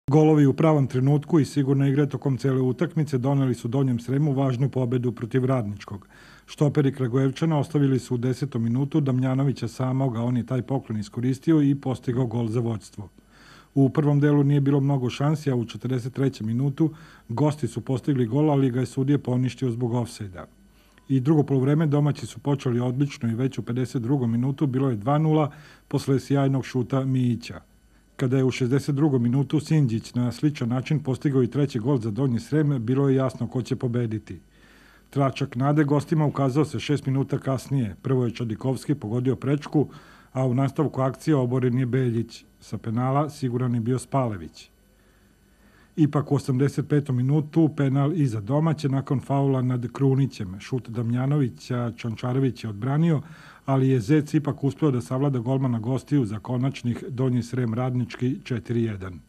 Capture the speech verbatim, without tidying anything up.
Golovi u pravom trenutku i sigurna igra tokom cele utakmice doneli su Donjem Sremu važnu pobedu protiv Radničkog. Štoperi Kragujevčana ostavili su u desetom minutu Damjanovića samoga, on je taj poklon iskoristio i postigao gol za vođstvo. U prvom delu nije bilo mnogo šansi, a u četrdeset trećem minutu gosti su postigli gol, ali ga je sudija poništio zbog ofsajda. I drugo poluvreme domaći su počeli odlično i već u pedeset drugom minutu bilo je dva nula posle sjajnog šuta Mijića. Kada je u šezdeset drugom minutu Sinđić na sličan način postigao i treći gol za Donji Srem, bilo je jasno ko će pobediti. Tračak nade gostima ukazao se šest minuta kasnije. Prvo je Čadikovski pogodio prečku, a u nastavku akcije oboren je Beljić. Sa penala siguran je bio Spalević. Ipak u osamdeset petom minutu penal i za domaće nakon faula nad Krunićem. Šut Damjanovića Čančarević je odbranio, ali je Zec ipak uspeo da savlada golmana gostiju za konačnih Donji Srem Radnički četiri jedan.